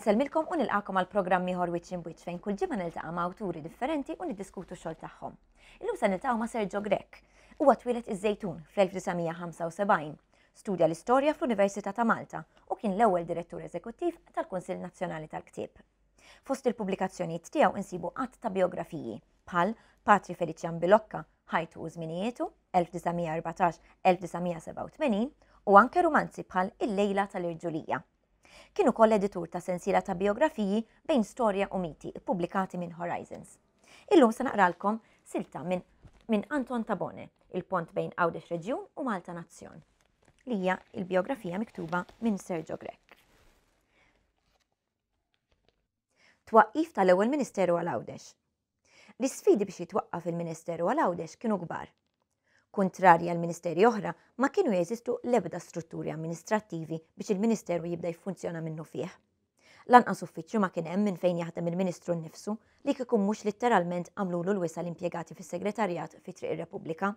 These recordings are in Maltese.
Insellmilkom u nilqakom għal programm ieħor Wiċċ Imbwiċċ fejn kull ġimgħa niltaqa' ma' awturi differenti u niddiskutu x-xogħol tagħhom. Illum se niltaqgħu ma' Sergio Grech. Huwa twieled iż-Żejtun fl-1975. Studja l-istorja fl-Università ta' Malta u kien l-ewwel direttur eżekuttiv tal-Kunsill Nazzjonali tal-Ktieb. Fost il-pubblikazzjonijiet tiegħu insibu għadd ta' bijografiji bħal Patri Feliċjan Bilocca, Ħajtu u Żminijietu, 1914-1987 u anke rumanzi bħal Il-Lejla tal-Irġulija. Kien ukoll editur ta' sensiela ta' bijografiji bejn storja u miti ppubblikati minn Horizons. Illum se naqralkom silta minn minn Anton Tabone, Il-Pont bejn Għawdex Reġjun u Malta Nazzjon, li hija l-bijografija miktuba minn Sergio Grech. Twaqqif tal-ewwel Ministeru għal Għawdex. L-isfidi biex jitwaqqaf il-Ministeru għal Għawdex kienu kbar. Kuntrarji għal ministeri oħra, ma kienu jeżistu l-ebda strutturi amministrattivi biex il-Ministeru jibda jiffunzjona minnufih. Lanqas uffiċċju ma kien hemm minn fejn jaħdem il-Ministru nnifsu li kieku mhux litteralment għamlulu l-wisa' l-impjegati fis-Segretarjat fi Triq ir-Repubblika.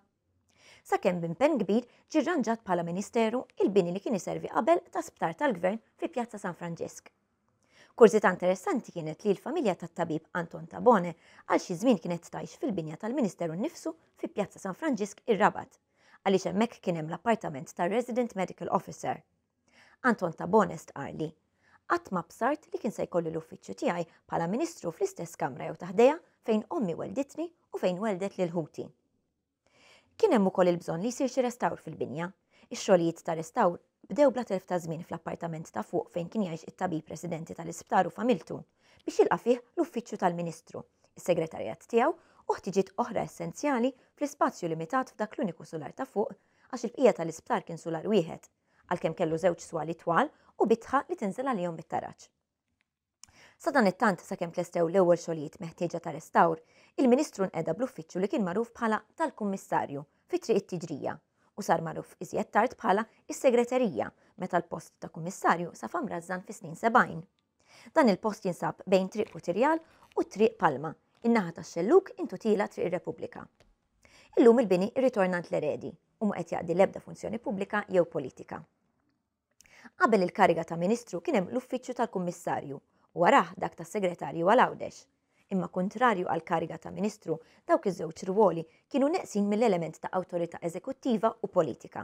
Sakemm b'impenn kbir ġie rranġat bħala Ministeru il-bini li kien iservi qabel ta' sptar tal-Gvern fi Pjazza San Franġisk. Kurżità interessanti kienet li l-familja tat-tabib Anton Tabone għal xi żmien kienet tgħix fil-binja tal-Ministeru nnifsu fi Pjazza San Franġisk ir-Rabat, għaliex hemmhekk kien hemm l-appartament tar-Resident Medical Officer. Anton Tabone stqarr li, Qatt ma bsart li kien se jkolli l-uffiċċju tiegħi bħala Ministru fl-istess kamra jew ta' ħdejha fejn ommi wellditni u fejn welldet lil ħuti. Kien hemm ukoll il-bżonn li jsir xi restawr fil-binja. Ix-xogħlijiet ta' restawr bdew bla telf ta' żmien fl-appartament ta' fuq fejn kien jgħix it-tabib residenti tal-isptar u familtu, biex jilqa' fih l-uffiċċju tal-Ministru, is-segretarjat tiegħu u ħtiġiet oħra essenzjali fl-ispazju limitat f'dak l-uniku sular ta' fuq għax il-bqija tal-isptar kien sular wieħed, għalkemm kellu żewġ swali twal u bitħa li tinżel għalihom bit-taraġ. Sadanittant, sakemm tlestew l-ewwel xogħlijiet meħtieġa ta' restawr, il-Ministru nqeda bl-uffiċċju li kien magħruf bħala tal-Kummissarju fi Triq it-Tiġrija u sar magħruf iżjed tard bħala s-Segreterija meta l-post ta' Kummissarju safa mrażżan fis-snin 70. Dan il-post jinsab bejn Triq Putirjal u Triq Palma, in-naħa tax-xellug intu tiela' Triq ir-Repubblika. Illum il-bini rritorna għand l-eredi u mhu qed jaqdi l-ebda funzjoni pubblika jew politika. Qabel il-kariga ta' Ministru kien hemm l-uffiċċju tal-Kummissarju u warah dak tas-Segretarju għal Għawdex. Imma kuntrarju għall-kariga ta' Ministru, dawk iż-żewġ rwoli kienu neqsin mill-element ta' awtorità eżekuttiva u politika.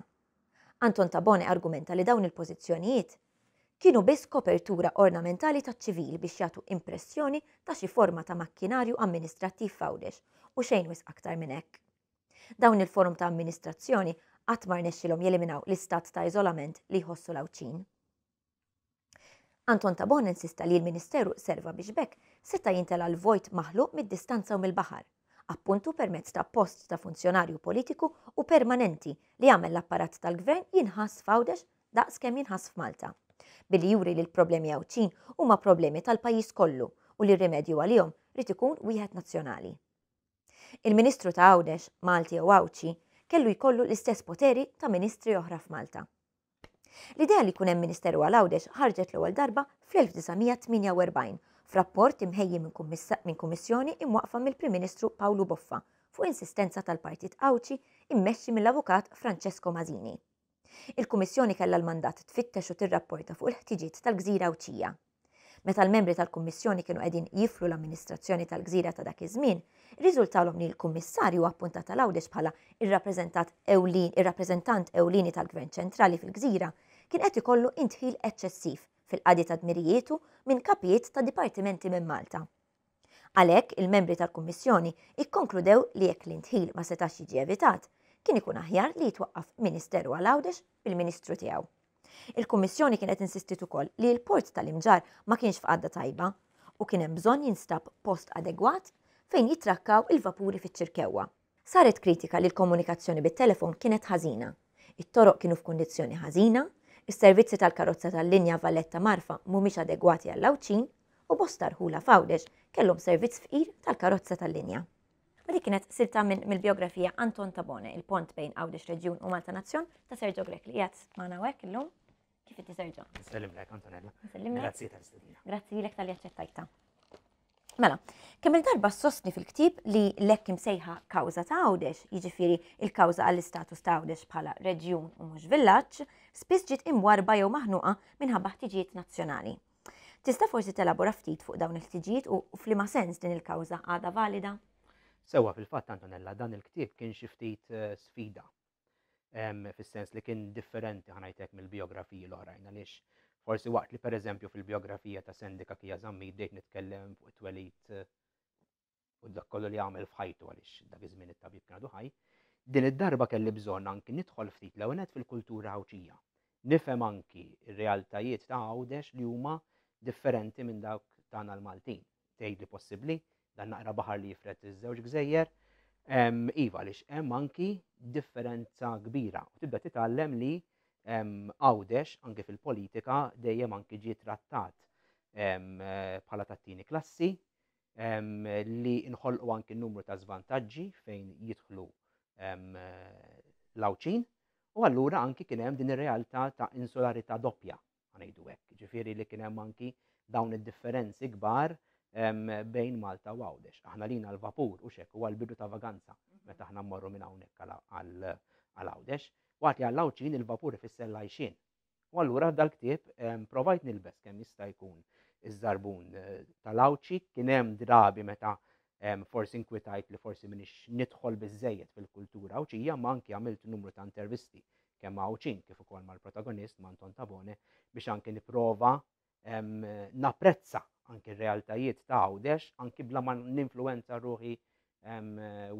Anton Tabone argumenta li dawn il-pożizzjonijiet kienu biss kopertura ornamentali taċ-ċivil biex jagħtu impressjoni ta' xi forma ta' makkinarju amministrattiv f'Għawdex u xejn wisq aktar minn hekk. Dawn il-forom ta' amministrazzjoni qatt ma rnexxilhom jeliminaw l-istat ta' iżolament li jħossu l-Għawdxin. Anton Tabone insista li l-Ministeru serva biex b'hekk seta' jintela l-vojt maħluq mid-distanza u mill-baħar, appuntu permezz ta' post ta' funzjonarju politiku u permanenti li jagħmel l-apparat tal-Gvern jinħass f'Għawdex daqs kemm jinħass f'Malta. Billi juri li l-problemi Għawdxin huma problemi tal-pajjiż kollu u li r-rimedju għalihom ried ikun wieħed nazzjonali. Il-Ministru ta' Għawdex, Malti jew Għawdxi, kellu jkollu l-istess poteri ta' ministri oħra f'Malta. L-idea li jkun hemm Ministeru għal Għawdex ħarġet l-ewwel darba fl-1948 f'rapport imħejji minn kummissjoni imwaqqfa mill-Prim Ministru Pawlu Boffa fuq insistenza tal-Partit Għawdxi immexxi mill-Avukat Francesco Masini. Il-Kummissjoni kellha l-mandat tfittex u tirrapporta fuq il-ħtiġiet tal-gżira Għawdxija. Meta l-membri tal-Kummissjoni kienu qegħdin jiflu l-amministrazzjoni tal-gżira ta' dak iż-żmien, irriżultalhom li l-Kummissarju appuntat għal Għawdex bħala ir-rappreżentat ewlien ir-rappreżentant ewlieni tal-Gvern ċentrali fil-gżira kien qed ikollu indħil eċċessiv fil-qadi ta' dmirijietu minn kapijiet ta' dipartimenti minn Malta. Għalhekk, il-membri tal-Kummissjoni kkonkludew li jekk l-indħil ma setax jiġi evitat, kien ikun aħjar li jitwaqqaf Ministeru għal Għawdex bil-Ministru tiegħu. Il-Kummissjoni kienet insistiet ukoll li l-port tal-Imġarr ma kienx f'qagħda tajba u kien hemm bżonn jinstab post adegwat fejn jitrakkaw il-vapuri fiċ-Ċirkewwa. Saret kritika li l-komunikazzjoni bit-telefon kienet ħażina, it-toroq kienu f'kundizzjoni ħażina, is-servizzi tal-karozza tal-linja Valletta-Marfa mhumiex adegwati għall-Għawdxin u bosta rħula f'Għawdex kellhom servizz fqir tal-karozza tal-linja. U dik kienet silta minn mill-bijografija Anton Tabone, il-pont bejn Għawdex Reġjun u Malta Nazzjon ta' Sergio Grech li qiegħed magħna hawnhekk illum. Kif inti Sergio? Nsellimlek Antonella. Nsellimlek. Grazzi tal-istedina. Grazzi lilek tal-li aċċettajta. Mela, kemm il-darba sostni fil-ktieb li l-hekk imsejħa kawża ta' Għawdex, jiġifieri il-kawża għall-istatus ta' Għawdex bħala reġjun u mhux villaġġ, spiss ġiet imwarba jew maħnuqa minħabba ħtiġijiet nazzjonali. Tista' forsi telabora ftit fuq dawn il-ħtiġijiet u f'liema sens din il-kawża għadha valida? Sewwa, fil-fatt Antonella, dan il-ktieb kien xi ftit eh, sfida. Fis-sens li kien differenti ħanajtek mill-biografiji l-oħrajn għaliex forsi waqt li pereżempju fil-biografija ta' Sandy Kakija Zammit bdejt nitkellem fuq it-twelid eh, u dak kollu li għamel f'ħajtu għaliex dak iż-żmien it-tabib kien għadu ħaj, din id-darba kelli bżonn anki nidħol ftit l-ewwel fil-kultura Għawdxija. Nifhem anki r-realtajiet ta' Għawdex li huma differenti minn dawk tagħna l-Maltin. Tgħidli possibbli, dan naqra baħar li jifred iż-żewġ gżejjer. Iva, għaliex hemm anki differenza kbira. U tibda titgħallem li Għawdex anki fil-politika dejjem anki ġie trattat bħala tat-tieni klassi, li nħolqu anki numru ta' żvantaġġi fejn jidħlu l-Għawdxin u allura anki kien hemm din ir-realtà ta' insularità doppja ngħidu hekk, ġifieri li kien hemm anki dawn id-differenzi kbar bejn Malta u Għawdex. Aħna lina l-vapur u xek huwa l-bidu ta' vaganza meta aħna mmorru minn hawnhekk għal Għawdex. Waqt li għall-Għawdxin il-vapur ifisser l-għajxien. U allura dal-ktieb provajt nilbes kemm jista' jkun iż-żarbun eh, tal-Għawdxi, kien hemm drabi meta forsi inkwitajt li forsi minix nidħol biżejjed fil-kultura Għawdxija, ma anki għamilt numru ta' intervisti kemm ma' Għawdxin kif ukoll mal-protagonist ma' Anton Tabone biex anki nipprova napprezza anki r-realtajiet ta' Għawdex anki bla ma ninfluwenza ruħi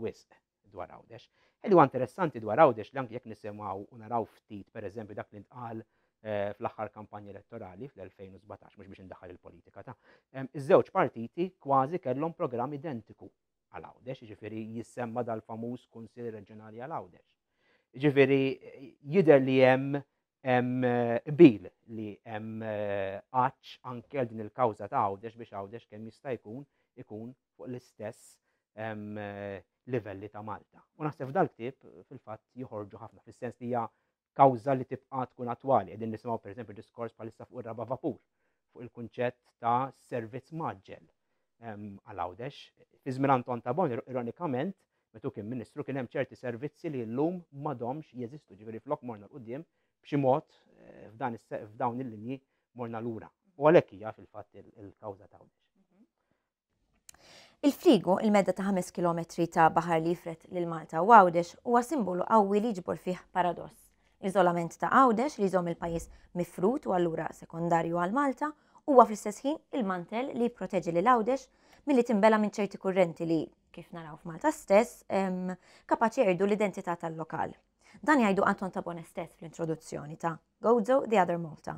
wisq dwar Għawdex. Li huwa interessanti dwar Għawdex li anki jekk nisimgħu u naraw ftit pereżempju dak li ntqal eh, fl-aħħar kampanja elettorali fl-2017 mhux biex indaħħal il-politika ta' iż-żewġ partiti kważi kellhom programm identiku għal Għawdex, jiġifieri jissemma dal-famuż Kunsill Reġjonali għal Għawdex. Jiġifieri jidher li hemm hemm qbil li hemm għatx anke għal din il-kawża ta' Għawdex biex Għawdex kemm jista' jkun ikun fuq l-istess livelli ta' Malta. U naħseb f'dal-ktieb fil-fatt joħorġu ħafna fis-sens li hija kawża li tibqa' tkun attwali. Qegħdin nisimgħu pereżempju diskors bħalissa fuq ir-raba' vapur, fuq il-kunċett ta' servizz mgħaġġel għal Għawdex. Fi żmien Anton Tabone, ironikament, meta kien ministru kien hemm ċerti servizzi li llum m'għadhomx jeżistu, ġifieri flok morna 'l quddiem b'xi mod eh, f'dawn il-linji morna lura. U għalhekk hija fil-fatt il-kawża ta' Għawdex. Il-frigu, il-medda ta' 5 kilometri ta' baħar li jifred lil Malta u Għawdex, huwa simbolu qawwi li jiġbor fih paradoss. L-iżolament ta' Għawdex li jżomm il-pajjiż mifrud u allura sekondarju għal Malta, huwa fl-istess ħin il-mantell li jipproteġi lil Għawdex milli tinbela' minn ċerti kurrenti li, kif naraw f'Malta stess, kapaċi jqerdu l-identità tal-lokal. Dan jgħidu Anton Tabone stess fl-introduzzjoni ta' Gozo, The Other Malta.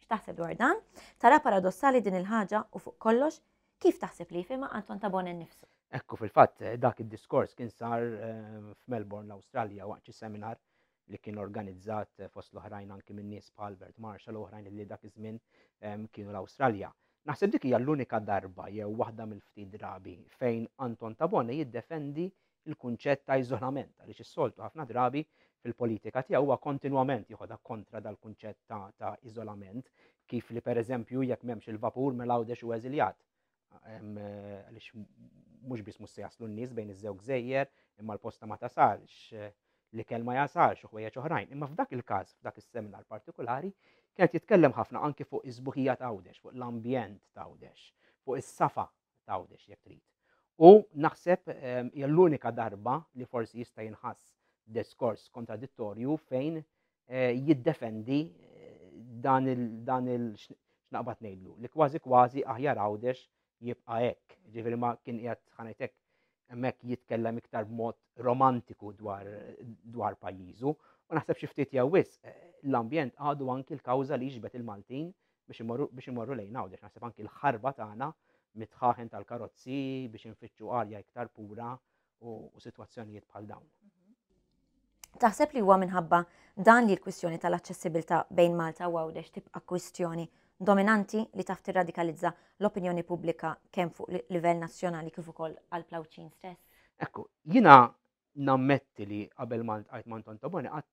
X'taħseb dwar dan? Tara paradossali din il-ħaġa u fuq kollox, kif taħseb li jifhimha Anton Tabone nnifsu? Ekku, fil-fatt, dak id-diskors kien sar eh, f'Melbourne, l-Awstralja, waqt xi seminar li kien organizzat eh, fost l-oħrajn anki minn nies bħal Albert Marshall u oħrajn li dak iż-żmien ehm, kienu l-Awstralja. Naħseb dik hija l-unika darba jew waħda mill-ftit drabi fejn Anton Tabone jiddefendi l-kunċett ta' iżolament għaliex is-soltu ħafna drabi fil-politika tiegħu huwa kontinwament joħodha kontra dal-kunċett ta', ta iżolament kif li pereżempju jekk m'hemmx il-vapur mela Għawdex hu eżiljat. Għaliex mhux biss mhux se jaslu n-nies bejn iż-żewġ gżejjer, imma l-posta ma tasalx, l-ikel ma jasalx u ħwejjeġ oħrajn. Imma f'dak il-każ, f'dak is-seminar partikolari, kienet jitkellem ħafna anki fuq is-sbuħija ta' Għawdex, fuq l-ambjent ta' Għawdex, fuq is-safa t'Għawdex jekk trid. U naħseb ehm, hija l-unika darba li forsi jista' jinħass diskors kontradittorju fejn eh, jiddefendi eh, dan il dan il x'naqbad ngħidlu li kważi kważi aħjar Għawdex jibqa' hekk. Ġifieri ma kien qiegħed ħanajt hekk hemmhekk jitkellem iktar b'mod romantiku dwar dwar pajjiżu. U naħseb xi ftit jew wisq eh, l-ambjent għadu anki l-kawża li jiġbed il-Maltin biex imorru biex imorru lejn Għawdex. Naħseb anki l-ħarba tagħna mit-tħaħen tal-karozzi biex infittxu arja iktar pura u, u sitwazzjonijiet bħal dawn. Taħseb li huwa minħabba dan li l-kwistjoni tal-aċċessibilità bejn Malta u Għawdex tibqa' kwistjoni dominanti li taf tirradikalizza l-opinjoni pubblika kemm fuq livell nazzjonali kif ukoll għal Plawċin stess? Ekku, jina nammetti li qabel ma ltqajt ma' Anton Tabone qatt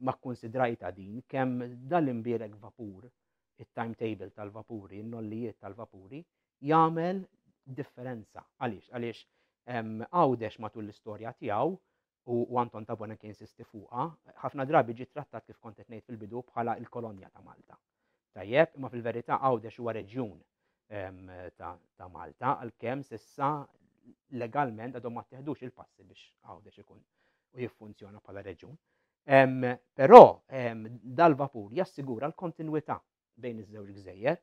ma kkunsidrajtha din kemm dal-imbierek vapur, it-timetable tal-vapuri, in-nollijiet tal-vapuri, jagħmel differenza. Għaliex? Għaliex Għawdex matul l-istorja tiegħu u Anton Tabone kien insisti fuqha, ħafna drabi ġie trattat kif kont qed ngħid fil-bidu bħala l-kolonja ta' Malta. Tajjeb, imma fil-verità Għawdex huwa reġjun ta' Malta, għalkemm s'issa legalment għadhom ma tteħdux il-passi biex Għawdex ikun u jiffunzjona bħala reġjun. Però dal-vapur jassigura l-kontinwità bejn iż-żewġ gżejjer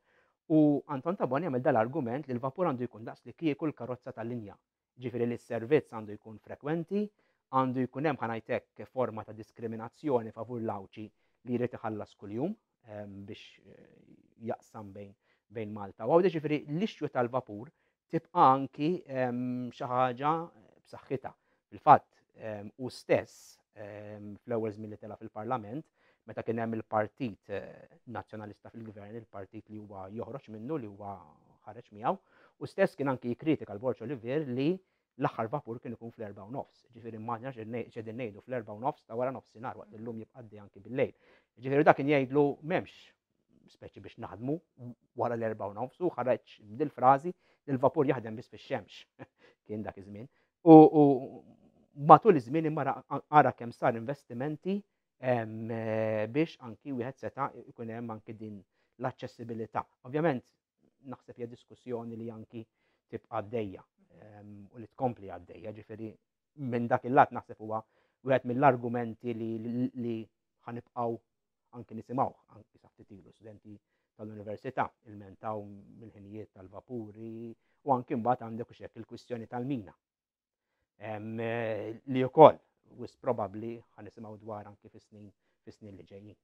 u Anton Tabone jagħmel dal-argument li l-vapur għandu jkun daqs li kieku l-karozza tal-linja. Ġifieri li s-servizz għandu jkun frekwenti, għandu jkun hemm ħa ngħid hekk forma ta' diskriminazzjoni favur l-Għawdxi li jrid iħallas kuljum biex jaqsam bejn bejn Malta u Għawdex, ġifieri l-issue tal-vapur tibqa' anki xi ħaġa b'saħħitha. Fil-fatt, hu stess fl-ewwel żmien li tela' fil-Parlament, meta kien hemm il-Partit Nazzjonalista fil-Gvern, il-partit li huwa joħroġ minnu, li huwa ħareġ miegħu, hu stess kien anki jikkritika l-Borg Olivier li l-aħħar vapur kien ikun fl-erbgħa u nofs. Ġifieri immaġina x'qegħdin ngħidu fl-erbgħa u nofs ta' wara nofsinhar waqt li llum jibqa' għaddej anki bil-lejl. Ġifieri dak kien jgħidlu m'hemmx speċi biex naħdmu wara l-erbgħa u nofs u ħareġ dil-frażi li l-vapur jaħdem biss fix-xemx kien dak iż-żmien. U matul iż-żmien imma ara kemm sar investimenti biex anki wieħed seta' ikun hemm anki din l-aċċessibilità. Ovvjament naħseb hija diskussjoni li anki tibqa' għaddejja u li tkompli għaddejja, ġifieri minn dak il-lat naħseb huwa wieħed mill-argumenti li ħanibqgħu anki nisimgħuh anki sa ftit ilu studenti tal-università ilmentaw mill-ħinijiet tal-vapuri u anki mbagħad għandek u xek il-kwistjoni tal-mina. Li wkoll wis probabbli ħanisimgħu dwar anki fis-snin fis-snin li ġejjin.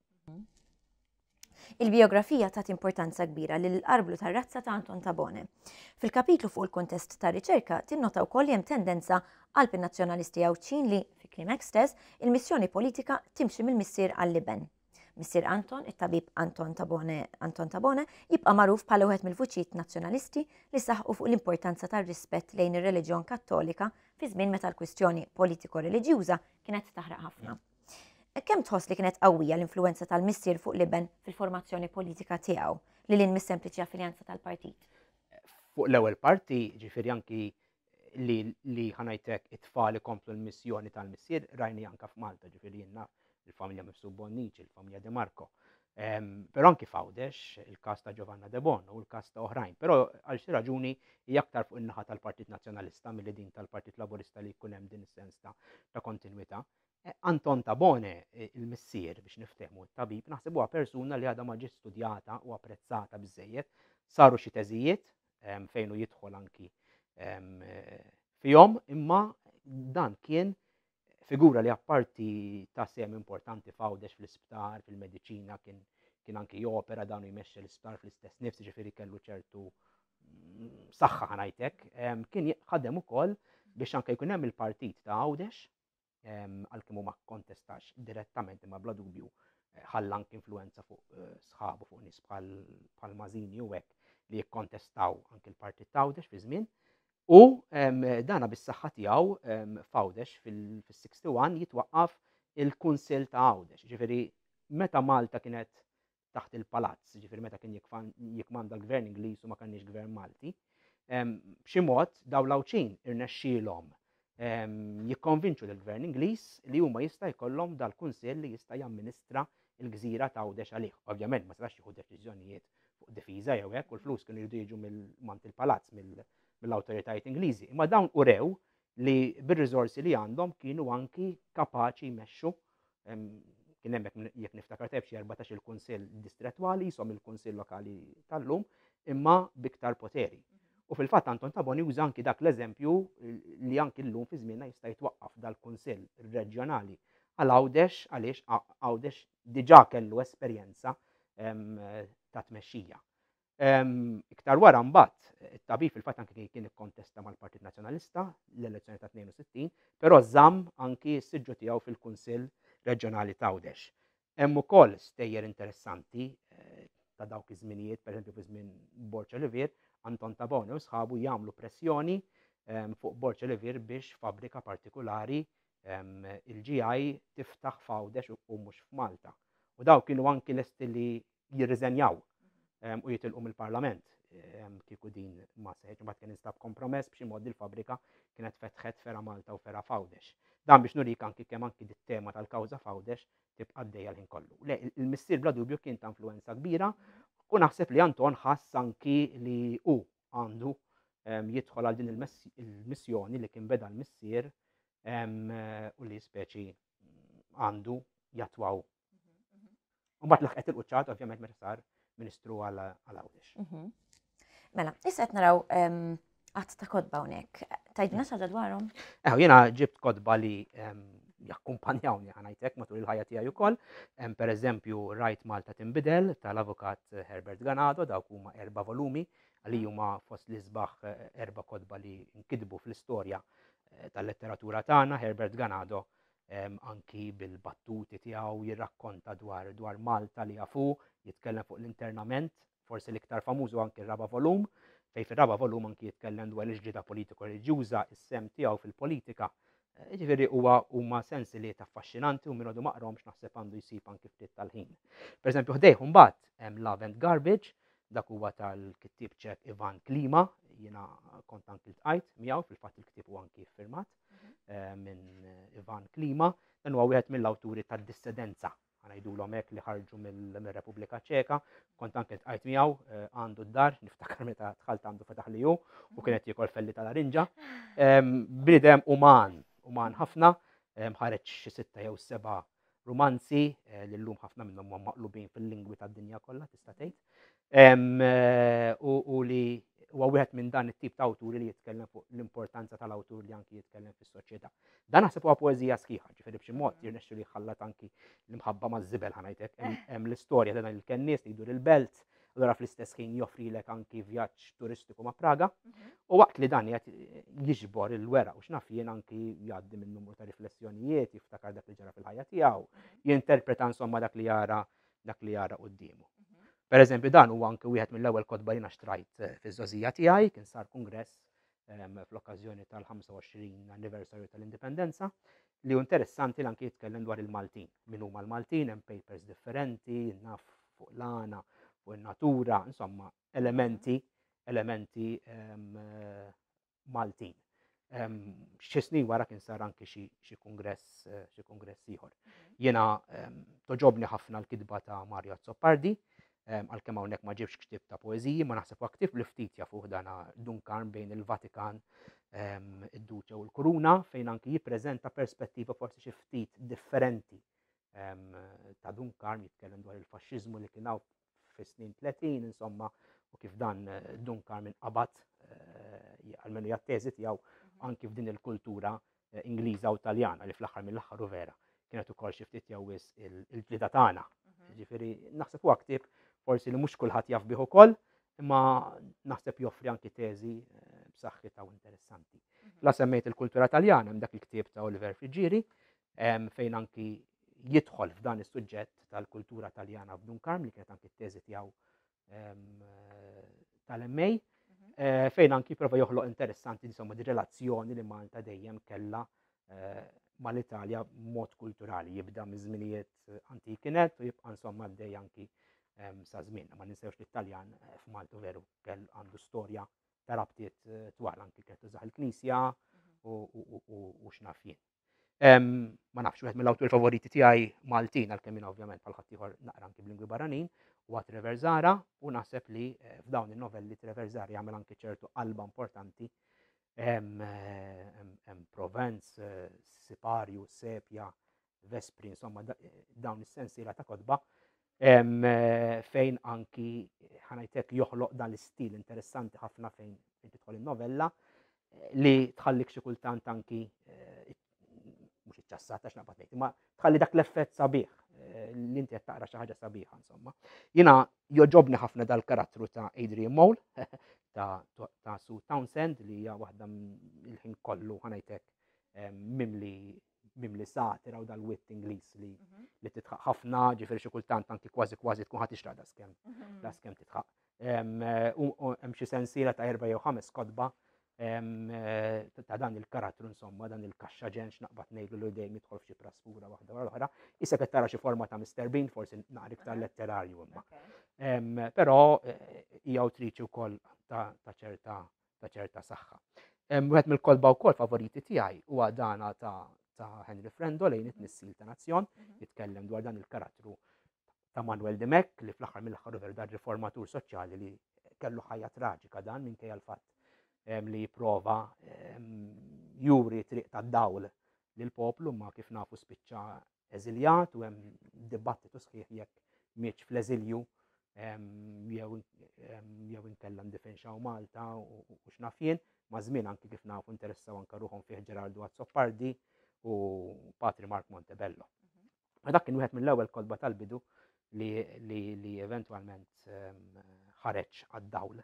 Il-bijografija tat importanza kbira lil arblu tar-razza ta' Anton Tabone. Fil-kapitlu fuq il-kuntest ta' riċerka tinnota wkoll li hemm tendenza qalb in-nazzjonalisti Għawdxin li, fi kliemek stess, il-missjoni politika timxi mill-missier għall-iben. Missier Anton, it-tabib Anton Tabone, Anton Tabone, jibqa' magħruf bħala wieħed mill-vuċijiet nazzjonalisti li saħqu fuq l-importanza tar-rispett lejn ir-reliġjon Kattolika fi żmien meta l-kwistjoni politiko-reliġjuża kienet taħraq ħafna. Kemm tħoss li kienet qawwija l-influwenza tal-missier fuq l-iben fil-formazzjoni politika tiegħu lil hinn mis-sempliċi affiljanza tal-partit? Fuq l-ewwel parti, ġifieri anki li li ħanajtek it-tfal ikomplu l-missjoni tal-missier rajni anka f'Malta, ġifieri jien naf il-familja Mifsud Bonnici, il-familja De Marco. Però anki f'Għawdex, il-każ ta' Giovanna De Bono u l-każ ta' oħrajn. Però għal xi raġuni hija aktar fuq in-naħa tal-Partit Nazzjonalista milli din tal-Partit Laburista li jkun hemm din is-sens ta' ta' kontinwità. Anton Tabone, il-missier biex niftehmu, it-tabib, naħseb huwa persuna li għadha ma ġietx studjata u apprezzata biżżejjed. Saru xi teżijiet fejn hu jidħol anki fihom, imma dan kien figura li apparti ta' sehem importanti f'Għawdex fl-isptar, fil-mediċina, kien kien anki jopera dan u jmexxi l-isptar fl-istess nifs, ġifieri kellu ċertu saħħa ħanajtek, kien ħadem ukoll biex anke jkun hemm il-partit ta' Għawdex, għalkemm hu ma kkontestax direttament imma bla dubju eh, ħalla anke influenza fuq eh, sħabu fuq nies bħal Mażini u hekk li jikkontestaw anke l-partit ta' Għawdex fi żmien. U dana bis-saħħa tiegħu f'Għawdex fil-61 jitwaqqaf il-Kunsill ta' Għawdex. Ġifieri meta Malta kienet taħt il-palazz, ġifieri meta kien jikmanda l-gvern Ingliż u ma kenniex gvern Malti, b'xi mod dawn l-Għawdxin irnexxielhom jikkonvinċu lill-gvern Ingliż li huma jista' jkollhom dal-kunsill li jista' jamministra l-gżira ta' Għawdex għalih. Ovvjament ma setax jieħu deċiżjonijiet fuq difiża jew hekk u l-flus kienu jridu jiġu mill-mant il-palazz mill-awtoritajiet Ingliżi. Imma dawn urew li bir-riżorsi li għandhom kienu anki kapaċi jmexxu kien hemm jekk niftakar tajjeb xi 14 il-kunsill distrettwali jisom il-kunsill lokali tal-lum imma biktar poteri. U fil-fatt Anton Taboni uża anki dak l-eżempju li anki llum fi żmienna jista' jitwaqqaf dal-kunsill reġjonali għal Għawdex għaliex Għawdex diġà kellu esperjenza ta' tmexxija. Iktar wara mbagħad it-tabib fil-fatt anki kien ikkontesta mal-Partit Nazzjonalista l-elezzjoni ta' 62, però żamm anki s-siġġu tiegħu fil-Kunsill Reġjonali ta' Għawdex. Hemm ukoll stejjer interessanti eh, ta' dawk iż-żminijiet, pereżempju fi żmien Borg Olivier, Anton Tabone u sħabu jagħmlu pressjoni fuq Borg Olivier biex fabbrika partikulari il-GI tiftaħ f'Għawdex u mhux f'Malta. U daw kienu anki lesti li jirriżenjaw u jitilqu mill-Parlament kieku din ma seħħitx. Imbagħad kien instab kompromess b'xi mod il-fabbrika kienet fetħet fera Malta u fera f'Għawdex. Dan biex nurik anki kemm anki dit-tema tal-kawża f'Għawdex tibqa' għaddejja l-ħin kollu. Le, il-missier bla dubju kien ta' influenza kbira. U naħseb li Anton ħass anki li hu għandu jidħol għal din il-missjoni li kien beda l-missier u li speċi għandu jatwaw. U mbagħad laħqet il-quċċat ovvjament meta sar Ministru għal Għawdex. Mhm. Mela, issa qed naraw għadd ta' kotba hawnhekk. Tajdna xi ħaġa dwarhom? Eħu, jiena ġibt kotba li jakkumpanjawni ħanajtek matul il-ħajja tiegħi ukoll. Per eżempju, Rajt Malta Tinbidel tal-Avukat Herbert Ganado, dawk huma erba' volumi li huma fost l-isbaħ eh, erba' kotba li nkitbu fl-istorja eh, tal-letteratura tagħna. Herbert Ganado anki bil-battuti tiegħu jirrakkonta dwar dwar Malta li jafu, jitkellem fuq l-internament, forsi l-iktar famuż anki r-raba' volum, fej fir-raba' volum anki jitkellem dwar il-ġlieda politiko reliġjuża, is-sem tiegħu fil-politika. Eh, ġifieri huwa huma sensiliet affaxxinanti u min għadu maqromx naħseb għandu jsib anki ftit tal-ħin. Per eżempju, ħdejh mbagħad hemm Love and Garbage, dak huwa tal-kittieb ċek Ivan Klima, jiena kont anki ltqajt miegħu fil-fatt il-ktieb huwa anki firmat. Eh, minn Ivan Klima, dan huwa wieħed mill-awturi tad-dissidenza, ngħidulhom hekk li ħarġu mill-Repubblika Ċeka, kont anke tqajt miegħu eh, għandu d-dar, niftakar meta dħalt għandu fetaħ li hu u kienet jiekol felli tal-arinġa. Bniedem uman, uman ħafna, ħareġ xi sitta jew seba' rumanzi eh, li llum ħafna minnhom huma maqlubin fil-lingwi tad-dinja kollha tista' tgħid. Eh, u li huwa wieħed minn dan it-tip ta' awturi li jitkellem fuq l-importanza tal-awtur li anki jitkellem fis-soċjetà. Dan naħseb huwa poeżija sħiħa, ġifieri b'xi mod jirnexxu li jħallat anki l-imħabba maż-żibel ħanajtek. Hemm l-istorja ta' dan il-kennies li jdur il-belt, allura fl-istess ħin joffrilek anki vjaġġ turistiku ma' Praga. Mhm. U waqt li dan qed jiġbor il-weraq u x'naf jien anki jgħaddi minn numru ta' riflessjonijiet, jiftakar dak li ġara fil-ħajja tiegħu, mhm. jinterpreta insomma dak li jara dak li jara quddiemu. Mhm. Per eżempju, dan huwa anki wieħed mill-ewwel kotba li xtrajt eh, fiż-żożija tiegħi, kien sar kongress ehm, fl-okkażjoni tal-25 anniversarju tal-Indipendenza, li hu interessanti li anki jitkellem dwar il-Maltin. Min huma l-Maltin, hemm papers differenti, naf fuq l-għana, fuq in-natura, insomma, elementi, elementi ehm, Maltin. Ehm, xi snin wara kien sar anki xi kungress eh, xi kungress ieħor. Mhm. Jiena ehm, toġobni ħafna l-kitba ta' Mario Azzopardi, għalkemm hawnhekk ma ġibx ktieb ta' poeżiji, ma naħseb ktieb li ftit jafuh dana Dunkarn bejn il-Vatikan, id-Duċe u l-Kuruna, fejn anki jippreżenta perspettiva forsi xi ftit differenti ta' Dunkarn jitkellem dwar il-faxxiżmu li kien hawn fis-snin 30, insomma, u kif dan eh, Dunkarn inqabad eh, għalmenu jatteżi tiegħu mhm. anki f'din il-kultura eh, Ingliża u Taljana li fl-aħħar mill-aħħar u vera kienet ukoll xi ftit jew wisq il-ġlida tagħna. Mhm. Ġifieri naħseb huwa ktieb forsi li mhux kulħadd jaf bih ukoll, imma naħseb joffri anki teżi b'saħħitha u interessanti. Mhm. La semmejt il-kultura Taljana hemm dak il-ktieb ta' Oliver Friggieri fejn anki jidħol f'dan is-suġġett tal-kultura Taljana f'Dun Karm li kienet anki t-teżi tiegħu tal-MA, mhm. eh, fejn anki prova joħloq interessanti insomma di relazzjoni li Malta dejjem kella eh, mal-Italja mod kulturali jibda minn żminijiet eh, antiki net u jibqa' insomma għaddej anki sa żmien. Ma ninsewx li t-Taljan f'Malta veru kell għandu storja ta' rabtiet twal anki kienet tużaħ il-Knisja mhm. u x'naf jien. Ma nafx, wieħed mill-awturi favoriti tiegħi Maltin għalkemm jien ovvjament bħal ħaddieħor naqra anki b'lingwi barranin, huwa Trevor Zara u naħseb li eh, f'dawn in-novelli Trevor Zara jagħmel anki ċertu qalba importanti hemm eh, Provence, eh, Siparju, Sepja, Vespri, insomma dawn is-sensiela ta' kotba fejn anki ħanajtek joħloq dan l-istil interessanti ħafna fejn tidħol in-novella li tħallik xi kultant anki eh, mhux iċċassat għax naqbad ngħid, imma tħalli dak l-effett sabiħ eh, li inti qed taqra xi ħaġa sabiħa insomma. Jiena joġobni ħafna dal-karattru ta' Adrian Mole ta' ta' Sue Townsend li hija waħda il-ħin kollu ħanajtek eh, mimli mimli satira u dal-wit Ingliż li mhm. li titħaq ħafna, ġifieri xi kultant anki kważi kważi tkun ħadd tixraq daskemm mhm. daskemm titħaq. Hemm xi sensiela ta' erba' jew ħames kotba eh, ta' dan il-karattru insomma, dan il-kaxxa ġenx naqbad ngħidu li dejjem jidħol f'xi prasfura waħda wara l-oħra. Issa qed tara xi forma ta' Mr. Bean, forsi naqra iktar letterarju imma. Però eh, hija awtriċi wkoll ta' ċerta ta' ċerta saħħa. Wieħed mill-kotba wkoll favoriti tiegħi huwa dana ta' ta' Henry Frendo lejn it-tnissil ta' nazzjon, mhm. jitkellem dwar dan il-karattru ta' Manuel Dimech li fl-aħħar mill-aħħar veru dar riformatur soċjali li kellu ħajja traġika dan minkejja l-fatt li jipprova juri triq tad-dawl lill-poplu ma kif nafu spiċċa eżiljat u hemm dibattitu sħiħ jekk mietx fl-eżilju jew jew inkella ndifenxaw Malta u x'naf jien, ma' żmien anki kif nafu interessaw anke ruħhom fih Ġerardu Azzopardi u Patri Mark Montebello. Ma dak kien wieħed mill-ewwel kotba tal-bidu li, li, li eventwalment ħareġ għad-dawl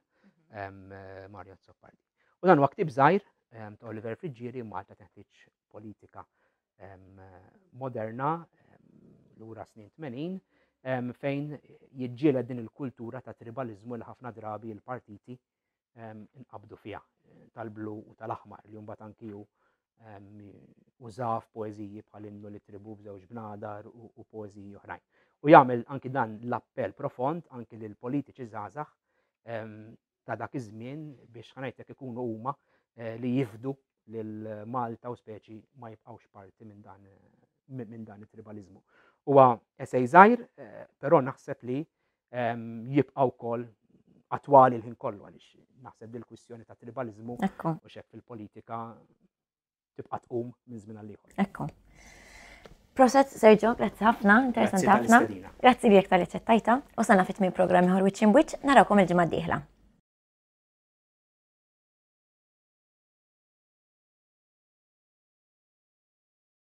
Mario Azzopardi. U dan huwa ktieb żgħir ta' Oliver Friggieri Malta teħtieġ politika moderna lura snin 80 fejn jiġġieled din il-kultura ta' tribalizmu li ħafna drabi l-partiti nqabdu fiha tal-blu u tal-aħmar li mbagħad anki hu uża f'poeżiji bħal innu li tribu b'żewġ bnadar u poeżiji oħrajn. U jagħmel anki dan l-appell profond anki lil politiċi żgħażagħ ta' dak iż-żmien biex ħanajtek ikunu huma eh, li jifdu lil Malta u speċi ma jibqgħux parti minn dan minn dan it-tribalizmu. Huwa esej żgħir, eh, però naħseb li ehm, jibqa' wkoll attwali l-ħin kollu għaliex naħseb dil-kwistjoni ta' tribalizmu u xek fil-politika tibqa' tqum minn żmien għal ieħor. Ekku. Proset, Sergio, grazzi ħafna, interessanti ħafna. Grazzi li tal-li ċettajta u sanna fit-tmien programm ieħor Wiċċ Imwiċċ, narawkom il-ġimgħa d-dieħla.